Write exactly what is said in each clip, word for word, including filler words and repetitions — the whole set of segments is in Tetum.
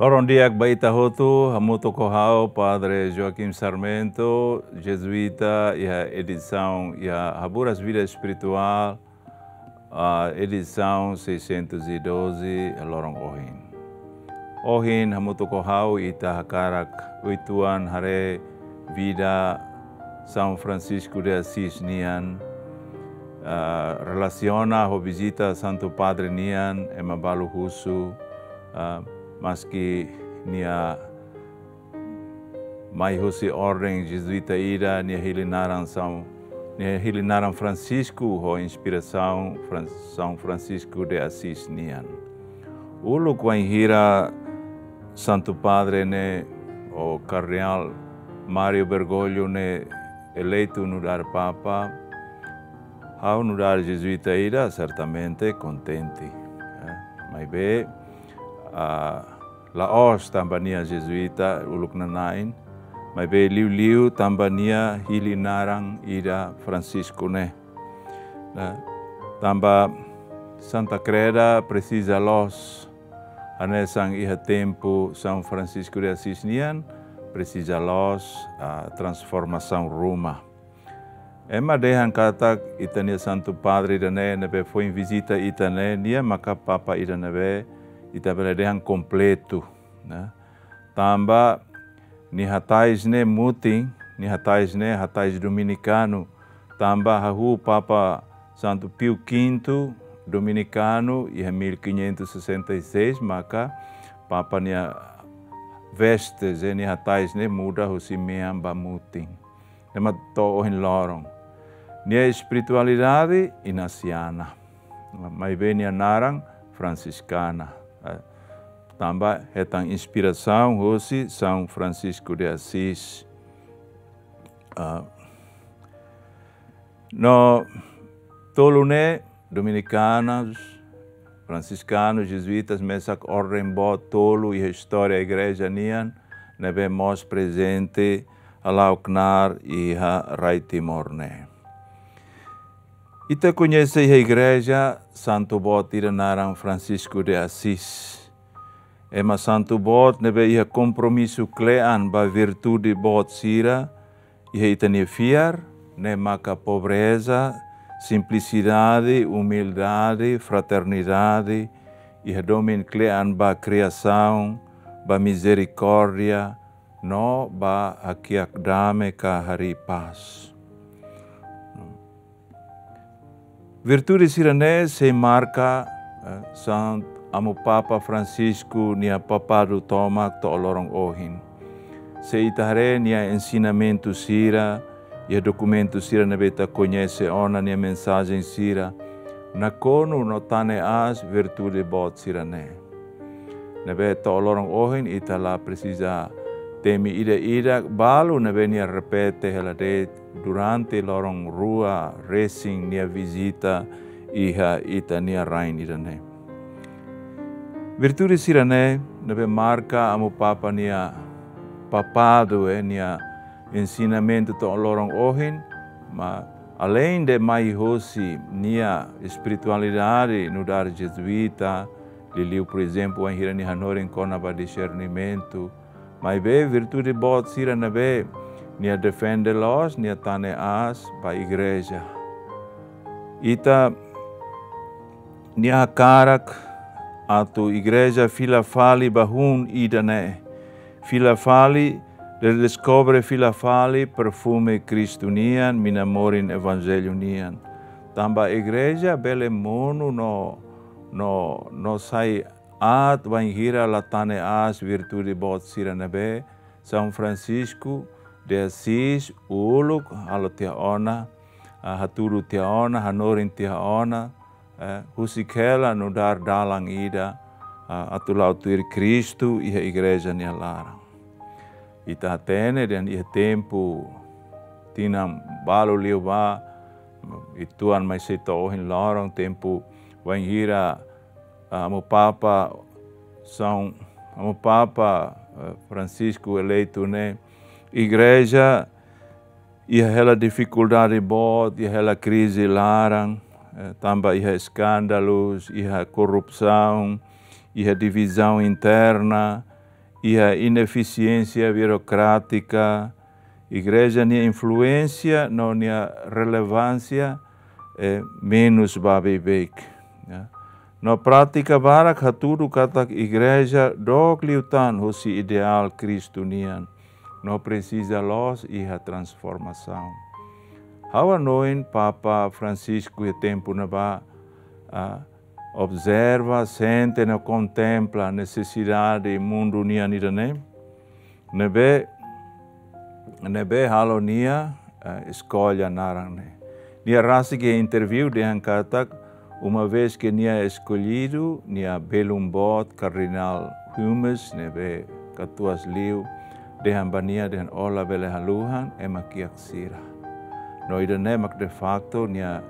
Loron di'ak ba ita hotu, hamutuk ho ha'u, Padre Joaquim Sarmento, Jezuita, iha edisaun, iha Haburas Vida Espirituál, ah, edisaun seiscentos e doze, loron ohin. Ohin, hamutuk ho ha'u, ita hakarak uitoan haree vida São Francisco de Assis nian, ah, relasiona ho vizita Santu Padre nian, ema balu husu, ah, maski nia mai husi orden Jezuita ida, nia hili naran São, nia hili naran Francisco ho inspirasaun Fran-, São Francisco de Assis nian. Uluk wainhira Santu Padre ne'e, ou Kardeál Mário Bergoglio ne'e eleitu nu'udar Papa, ha'u nu'udar Jezuita ida, sertamente kontente. Eh, maibé, ah, la'ós tanba nia Jezuita uluk nana'in, maibé liuliu tanba nia hili naran ida Francisco ne'e. Nah, tanba Santa Kreda presiza loos, hanesan iha tempu São Francisco de Assis nian, presiza loos, ah, transformasaun ruma. Ema dehan katak ita-nia Santu Padre ida-ne'e, ne'ebé foin vizita ita ne'e, nia maka Papa ida ne'ebé ita bele dehan kompletu, ne'e. Tanba nia hatais ne'e mutin, nia hatais ne'e hatais dominikanu. Tanba hahú Papa Santu Pio Quinto dominikanu, iha mil quinhentos e sessenta e seis, maka Papa nia veste, nia hatais ne'e muda husi mean ba mutin. Ne'e mak to'o ohin loron. Nia espiritualidade inasiana. Maibé nia naran Fransiskana. Eh, tanba hetan inspirasaun husi São Francisco de Assis. Ah, no tolu ne'e, Dominikanus, Fransiskanu, Jezuitas, mesak orden boot tolu iha istória igreja nian, ne'ebé mós prezente hala'o knaar iha rai Timor ne'e. Ita koñese iha igreja santu boot ida naran Francisco de Assis. Ema santu boot ne'ebé iha kompromisu kle'an ba virtude boot sira iha ita-nia fiar, ne'e maka pobreza, simplisidade, umildade, fraternidade, iha domin kle'an ba kriasaun, ba mizerikórdia, no ba hakiak dame ka harii pás. Virtude sira-ne'e sei marka, eh, Santu Amu Papa Francisco nia papadu tomak to'o loron ohin. Se ita haree nia ensinamentu sira, iha dokumentu sira ne'ebé ita koñese ona, nia mensajen sira, nakonu no tane aas virtude boot sira-ne'e. Ne'ebé to'o loron ohin ita la presiza temi ida-idak, balu ne'ebé nia repete hela de'it durante loron rua resin nia vizita iha ita-nia rain ida-ne'e. Virtude sira-ne'e ne'ebé marka Amu Papa nia papadu, eh, nia ensinamentu to'o loron ohin, ma aleinde mai hosi nia espiritualidade nu'udar Jezuita, liuliu, por ezemplu, wainhira nia hanorin kona-ba disernimentu, maibé virtude boot sira ne'ebé nia defende loos, nia tane aas ba igreja. Ita-nia hakarak atu igreja fila fali ba hun ida-ne'e. Fila fali, redeskobre fila fali perfume Kristu nian, mina morin evanjellu nian. Tanba igreja bele monu no, no, no sai aat wainhira la tane aas virtude boot sira ne'ebé São Francisco de Assis uluk halo tiha ona, ah, hatudu tiha ona, hanorin tiha ona, eh, husik hela nu'udar dalan ida, ah, atu la'o tuir Kristu iha igreja nia laran. Ita hatene dehan iha tempu tinan balu liubá, uitoan mai sei to'o ohin loron, tempu wainhira, ah, Amu Papa São, Amu Papa, eh, Francisco eleitu ne'e, igreja iha hela difikuldade boot, iha hela krize laran, eh, tanba iha eskándalu, iha korrupsaun, iha divizaun interna, iha inefisiénsia burokrátika, igreja nia influénsia no nia relevánsia, eh, menus ba beibeik, ya. No prátika barak hatudu katak igreja dook liután husi ideál Kristu nian, no presiza loos iha transformasaun. Ha'u hanoin Papa Francisco iha tempu ne'ebá, ah, observa, sente no kontempla nesesidade mundu nian ida-ne'e, ne'ebé, ne'ebé halo nia, eh, eskolla naran ne'e. Nia rasik iha interview dehan katak, uma vez que nia eskollidu, nia belun boot Kardinál Humes, ne'ebé katuas liu, dehan ba nia, dehan: "Ó labele haluhan ema kiak sira." No ida-ne'e mak de facto nia,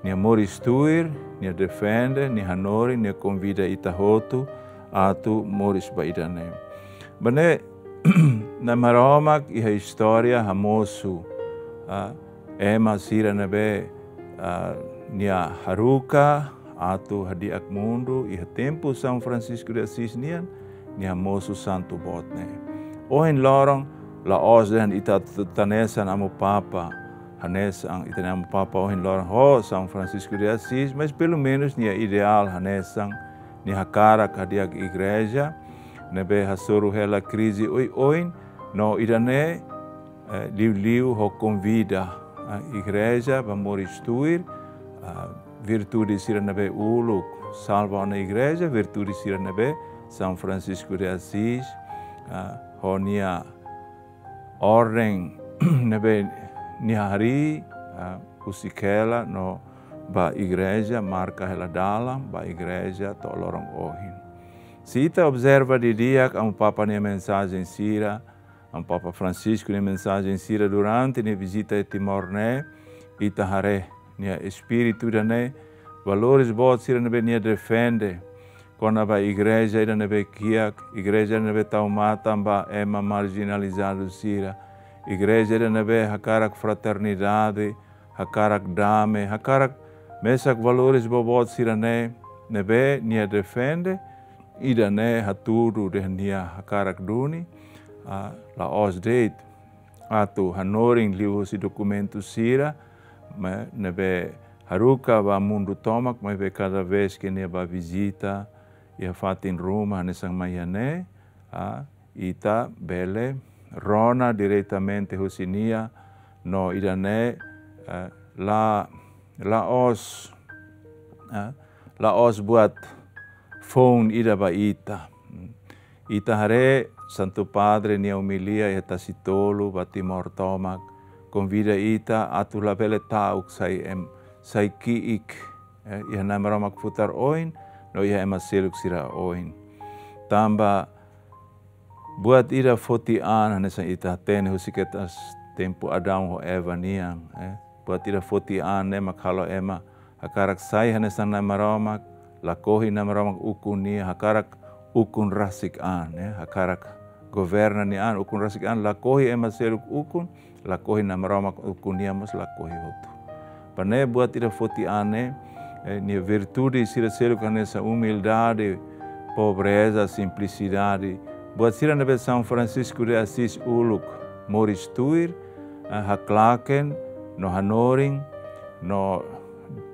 nia moris tuir, nia defende, nia hanorin, nia konvida ita hotu atu moris ba ida-ne'e. Ba ne'e, Nai Maromak iha istória hamosu, ah, ema sira ne'ebé, ah, nia haruka atu hadi'ak mundu iha tempu São Francisco de Assis nian, nia hamosu santu boot ne'e. Ohin loron, la'ós dehan ita atu hanesan Amu Papa, hanesan ita-nia Amu Papa ohin loron ho São Francisco de Assis, mas pelumenus nia ideál hanesan, nia hakarak hadi'ak igreja ne'ebé hasoru hela krize oioin, no ida-ne'e, eh, liuliu ho konvida, eh, igreja ba moris tuir, eh, virtude sira ne'ebé uluk salva ona igreja, virtude sira ne'ebé São Francisco de Assis, eh, ho nia orden ne'ebé nia harii, eh, husik hela no ba igreja, marka hela dalan ba igreja to'o loron ohin. Se ita observa didi'ak Amu Papa nia mensajen sira, Amu Papa Francisco nia mensajen sira durante nia vizita iha Timor ne'e, ita haree nia espíritu ida-ne'e, valores boot sira ne'ebé nia defende kona-ba igreja ida ne'ebé kiak, igreja ne'ebé tau matan ba ema marjinalizadu sira, igreja ida ne'ebé hakarak fraternidade, hakarak dame, hakarak mesak valores boboot sira-ne'e ne'ebé nia defende, ida-ne'e hatudu dehan nia hakarak duni, ah, la'ós de'it atu hanorin liuhusi dokumentu sira, ma ne'ebé haruka ba mundu tomak, maibé kada vez ke nia bá vizita iha fatin ruma hanesan mai iha ne'e, ah, ita bele rona diretamente husi nia, no ida-ne'e, eh, la, la'ós, eh, la'ós buat foun ida ba ita. Ita haree Santu Padre nia omilia iha Tasitolu ba Timor tomak, konvida ita atu labele ta'uk sai em, sai ki'ik, eh, iha Nai Maromak futar oin, no iha ema seluk sira oin. Tanba buat ida foti an, hanesan ita hatene husi kedas tempu Adão ho Eva nian, eh. Buat ida foti an ne'e mak halo ema hakarak sai hanesan Nai Maromak, lakohi Nai Maromak ukun nia, hakarak ukun rasik an, eh. Hakarak governa nia an, ukun rasik an, lakohi ema seluk ukun, lakohi Nai Maromak ukun nia mós lakohi hotu. Ba ne'e buat ida foti an ne'e, eh, nia virtude sira seluk hanesan umildade, pobreza, simplisidade. Buat sira ne'ebé São Francisco de Assis uluk moris tuir, eh, haklaken, no hanorin, no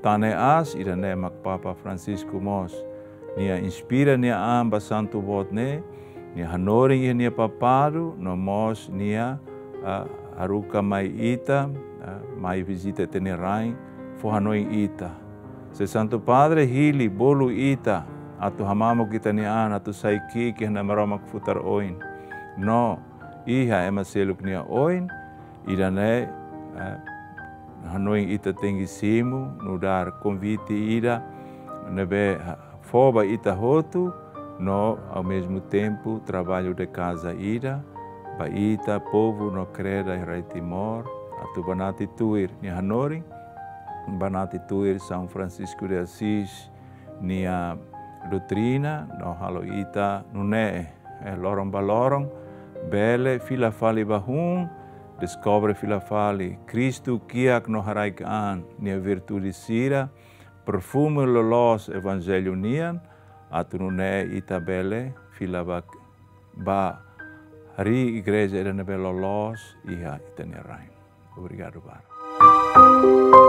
tane aas, ida-ne'e mak Papa Francisco mós nia inspira nia an ba santu boot ne'e, nia hanorin iha nia papadu, no mós nia, ah, haruka mai ita, ah, mai vizita ita-nia rain, fó hanoin ita. Se Santu Padre hili bolu ita atu hamamuk ita-nia an, atu sai ki'ik iha Nai Maromak futar oin, no iha ema seluk nia oin, ida-ne'e, eh, hanoin ita tenke simu, nu'udar konvite ida ne'ebé, ah, fó ba ita hotu, no ao mesmo tempo trabalho de casa ida ba ita povu no kreda iha rai Timor, atu banati tuir nia hanorin, banati tuir São Francisco de Assis nia doutrina, no halo ita nune'e, eh, loron ba loron, bele fila fali ba hun, deskobre fila fali Kristu kiak no haraik an, nia virtude sira, perfume loloos Evanjellu nian, atu nune'e ita bele fila ba, ba harii igreja ida ne'ebé loloos iha ita-nia rain. Obrigadu barak.